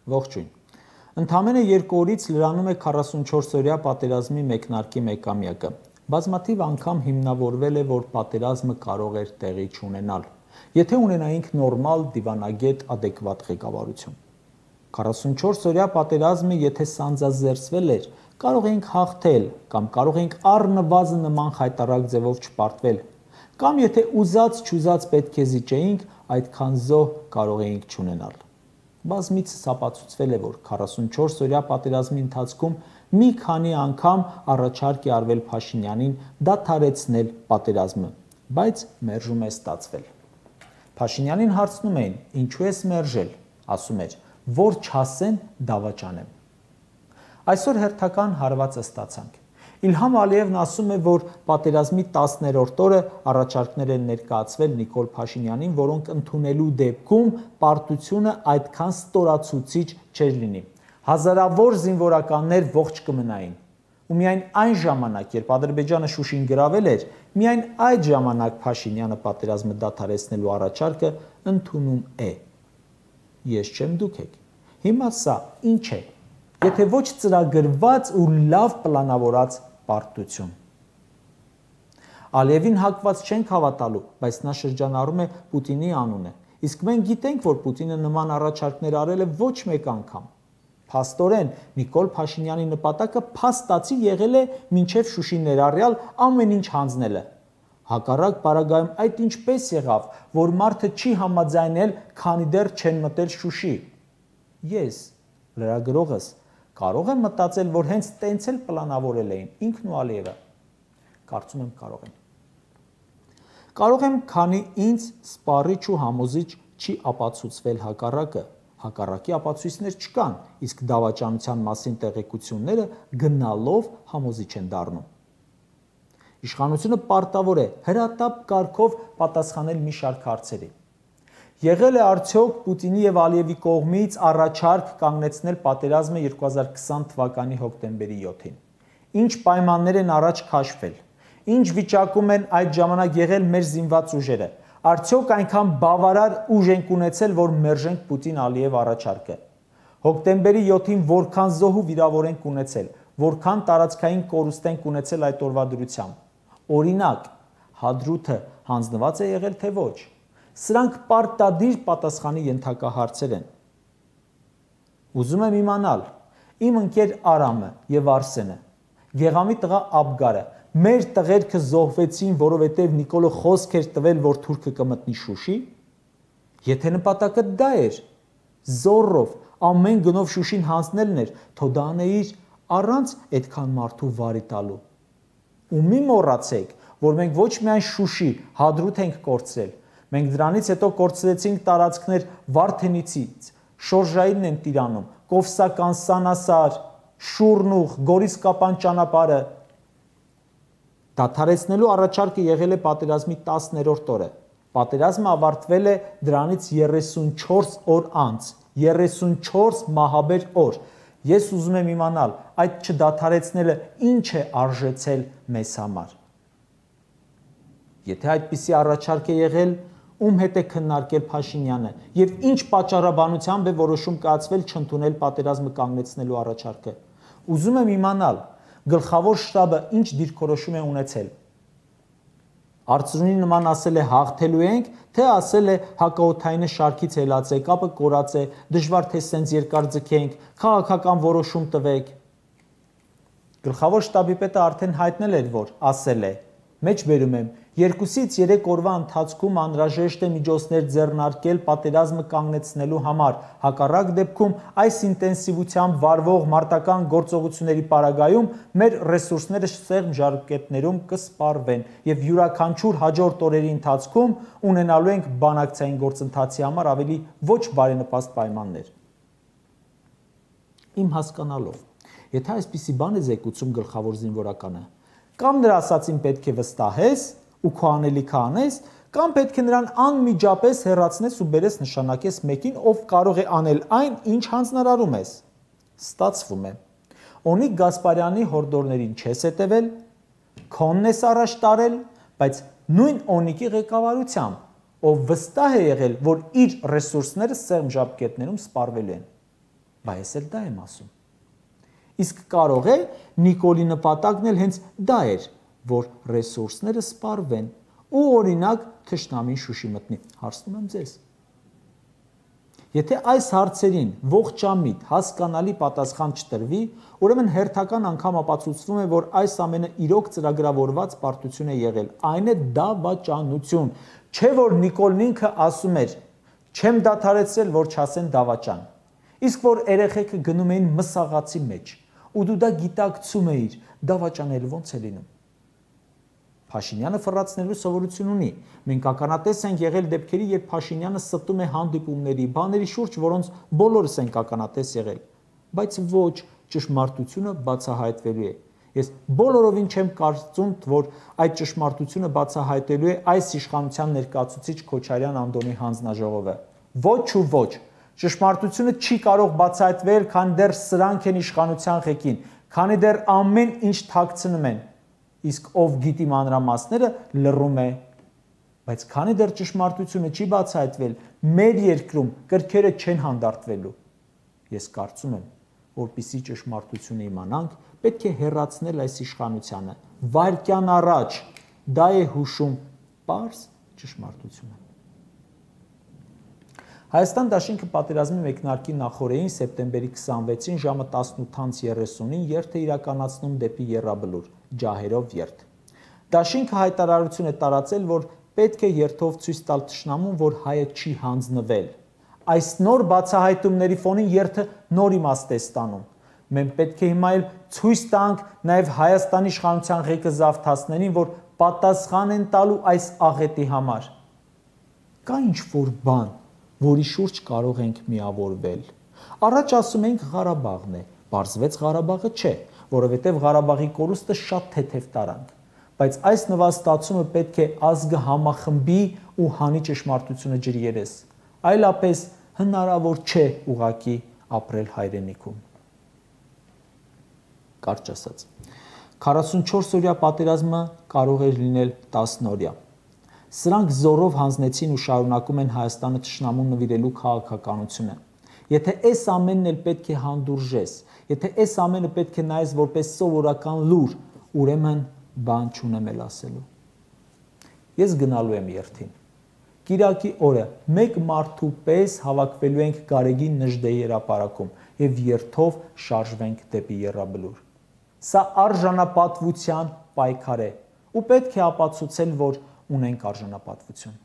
Ողջույն։ Ընդամենը 2 օրից լրանում է 44-օրյա պատերազմի մեկնարկի մեկամյակը։ Բազմաթիվ անգամ հիմնավորվել է, որ պատերազմը կարող էր տեղի չունենալ, եթե ունենայինք նորմալ, դիվանագետ, adekvat ղեկավարություն։ 44-օրյա պատերազմը, եթե սանձազերծվել էր, կարող էինք հաղթել, կամ կարող էինք առնվազն նման խայտառակ ձևով չպարտվել, կամ եթե ուզած-չուզած պետք է զիջեինք, այդքան զոհ կարող էինք չունենալ։ Բազմիցս ապացուցվել է, որ 44-օրյա պատերազմի ընթացքում մի քանի անգամ առաջարկ է արվել Փաշինյանին դադարեցնել պատերազմը, բայց մերժում է ստացվել։ Փաշինյանին հարցնում էին, ինչու ես մերժել, ասում էր, որ չասեն դավաճանեմ։ Այսօր հերթական հարվածը ստացանք։ Իլհամ Ալիևն ասում է, որ պատերազմի 10-րդ օրը առաջարկներ են ներկայացվել Նիկոլ Փաշինյանին, որոնք ընդունելու դեպքում պարտությունը այդքան ստորացուցիչ չէր լինի։ Հազարավոր զինվորականներ ողջ կմնային։ Ու միայն այն ժամանակ, երբ Ադրբեջանը Շուշին գրավել էր, միայն այդ ժամանակ Փաշինյանը պատերազմը դադարեցնելու առաջարկը ընդունում է։ Ես չեմ, դուք եք։ Հիմա սա ինչ է, եթե ոչ ծրագրված ու լավ պլանավորած պարտություն։ Ալիևին հակված չենք հավատալու, բայց նա շրջանառում է Պուտինի անունը, իսկ մենք գիտենք, որ Պուտինը նման առաջարկներ արել է ոչ մեկ անգամ։ Փաստորեն Նիկոլ Փաշինյանի նպատակը փաստացի եղել է մինչև Շուշի ներառյալ ամեն ինչ հանձնելը։ Հակառակ պարագայում այդ ինչպես եղավ, որ մարդը չի համաձայնել, քանի դեռ չեն մտել Շուշի։ Ես, լրագրողս, կարող եմ մտածել, որ հենց տենց էլ պլանավորել էին ինքն ու Ալիևը։ Կարծում եմ կարող են։ Կարող եմ, քանի ինձ սպառիչ ու համոզիչ չի ապացուցվել հակառակը, հակառակի ապացույցներ չկան, իսկ դավաճանության մասին տեղեկությունները գնալով համոզիչ են դառնում։ Իշխանությունը պարտավոր է հրատապ կարգով պատասխանել մի շարք հարցերի։ Եղել է արդյոք Պուտինի եւ Ալիևի կողմից առաջարկ կանգնեցնել պատերազմը 2020 թվականի հոկտեմբերի 7-ին։ Ինչ պայմաններ են առաջ քաշվել։ Ինչ վիճակում են այդ ժամանակ եղել մեր զինված ուժերը։ Արդյոք այնքան բավարար ուժ ենք ունեցել, որ մերժենք Պուտին-Ալիև առաջարկը։ Հոկտեմբերի 7-ին որքան զոհ ու վիրավոր ենք ունեցել, որքան տարածքային կորուստ ենք ունեցել այդ օրվա դրությամբ։ Օրինակ, Հադրութը հանձնված է եղել թե ոչ։ Սրանք պարտադիր պատասխանի ենթակահարցեր են։ Ուզում եմ իմանալ, իմ ընկեր Արամը եւ Արսենը, Գեղամի տղա Աբգարը, մեր տղերքը զոհվեցին, որովհետեւ Նիկոլը խոսք էր տվել, որ թուրքը կմտնի Շուշի։ Եթե նպատակը դա էր, զորով ամեն գնով Շուշին հանձնելն էր, թո դա անեիր առանց այդքան մարդու վարի տալու։ Ու մի մոռացեք, որ մենք ոչ միայն Շուշի, Հադրութ ենք կորցրել, մենք դրանից հետո կորցրեցինք տարածքներ Վարդենիցից, Շորժայինն են Տիրանում, Կովսական, Սանասար, Շուրնուղ, Գորիսկապան ճանապարհը։ Դադարեցնելու առաջարկը եղել է պատերազմի 10-րդ օրը։ Պատերազմը ավարտվել է դրանից 34 օր անց, 34 մահաբեր օր։ Ես ուզում եմ իմանալ, այդ չդադարեցնելը ինչ է արժեցել մեզ համար։ Եթե այդպիսի առաջարկ է եղել, ում հետ է քննարկել Փաշինյանը եւ ինչ պատճառաբանությամբ է որոշում կայացվել չընդունել պատերազմը կանգնեցնելու առաջարկը։ Ուզում եմ իմանալ, գլխավոր շտաբը ինչ դիրքորոշում է ունեցել։ Արծրունի նման ասել է հաղթելու ենք, թե ասել է հակաօդայինը շարքից հելած է, կապը կորած է, դժվար թե սենց երկար ձգենք, քաղաքական որոշում տվեք։ Գլխավոր շտաբի պետը արդեն հայտնել էր, որ ասել է. Մեջբերում եմ, 2-ից 3 օրվա ընթացքում անհրաժեշտ է միջոցներ ձեռնարկել պատերազմը կանգնեցնելու համար, հակառակ դեպքում այս ինտենսիվությամբ վարվող մարտական գործողությունների պարագայում մեր ռեսուրսները սեղմ ժարկետներում կսպառվեն եւ յուրաքանչյուր հաջորդ օրերի ընթացքում ունենալու ենք բանակցային գործընթացի համար ավելի ոչ բարենպաստ պայմաններ։ Իմ հասկանալով, եթե այսպիսի բան է զեկուցում գլխավոր զինվորականը, կամ նրա ասածին պետք է վստահես ու քո անելիքը անես, կամ պետք է նրան անմիջապես հեռացնես ու բերես նշանակես մեկին, ով կարող է անել այն, ինչ հանձնարարում ես։ Ստացվում է։ Օնիկ Գասպարյանի հորդորներին չես հետևել, քոնն ես առաջ տարել, բայց նույն Օնիկի ղեկավարությամբ, ով վստահ է եղել, որ իր ռեսուրսները սեղմ ժապկետներում սպառվելու են։ բայց ես էլ դա եմ ասում։ Իսկ կարող է Նիկոլի նպատակն էլ հենց դա էր, որ ռեսուրսները սպառվեն ու օրինակ թշնամին շուշի մտնի։ Հարցնում եմ ձեզ։ Եթե այս հարցերին ողջամիտ, հասկանալի պատասխան չտրվի, ուրեմն հերթական անգամ ապացուցվում է, որ այս ամենը իրոք ծրագրավորված պարտություն է եղել։ Այն է դավաճանություն, չէ որ Նիկոլն ինքը ասում էր. «Չեմ դադարեցրել, որ չասեն դավաճան»։ Իսկ որ երեխեքը գնում էին մսաղացի մեջ, ու դու դա գիտակցում էիր, դավաճանել ոնց է լինում։ Փաշինյանը ֆռացնելու սովորություն ունի։ Մենք ականատես ենք եղել դեպքերի, երբ Փաշինյանը ստում է հանդիպումների, բաների շուրջ, որոնց բոլորս ենք ականատես եղել, բայց ոչ, ճշմարտությունը բացահայտվելու է։ Ես բոլորովին չեմ կարծում, որ այդ ճշմարտությունը բացահայտելու է այս իշխանության ներկայացուցիչ Քոչարյան Անդոնի հանձնաժողովը։ Ոչ ու ոչ։ Ճշմարտությունը չի կարող բացահայտվել, քանի դեռ սրանք են իշխանության ղեկին, քանի դեռ ամեն ինչ թաքցնում են։ Իսկ ով գիտի մանրամասները լռում է։ Բայց քանի դեռ ճշմարտությունը չի բացահայտվել, մեր երկրում կրքերը չեն հանդարտվելու։ Ես կարծում եմ, որպեսզի ճշմարտությունը իմանանք, պետք է հեռացնել այս իշխանությանը։ Վայրկյան առաջ դա է հուշում պարզ ճշմարտությունը։ Հայաստան դաշինքը պատերազմի մեկնարկի նախօրեին սեպտեմբերի 26-ին ժամը 18:30-ին երթ է իրականացնում դեպի Եռաբլուր, ջահերով երթ։ Դաշինքը հայտարարություն է տարածել, որ պետք է երթով ցույց տալ թշնամուն, որ հայը չի հանձնվել։ Այս նոր բացահայտումների ֆոնին երթը նոր իմաստ է ստանում։ Մենք պետք է հիմա էլ ցույց տանք նաև Հայաստանի իշխանության ղեկը զավթացներին, որ պատասխան են տալու այս աղետի համար։ Կա ինչ-որ բան, որի շուրջ կարող ենք միավորվել։ Առաջ ասում ենք Ղարաբաղն է, պարզվեց Ղարաբաղը չէ, որովհետև Ղարաբաղի կորուստը շատ թեթև տարանք։ Բայց այս նվաստացումը պետք է ազգը համախմբի ու հանի ճշմարտությունը ջրի երես։ Այլապես հնարավոր չէ ուղղակի ապրել հայրենիքում։ Կարճ ասած, 44-օրյա պատերազմը կարող էր լինել 10-օրյա։ Սրանք զորով հանձնեցին ու շարունակում են Հայաստանը թշնամուն նվիրելու քաղաքականությունը։ Եթե այս ամենն էլ պետք է հանդուրժես, եթե այս ամենը պետք է նայես որպես սովորական լուր, ուրեմն բան չունեմ էլ ասելու։ Ես գնալու եմ երթին։ Կիրակի օրը մեկ մարդու պես հավաքվելու ենք Գարեգին Նժդեի հրապարակում եւ երթով շարժվենք դեպի Եռաբլուր։ Սա արժանապատվության պայքար է ու պետք է ապացուցել, որ ունենք արժանապատվություն։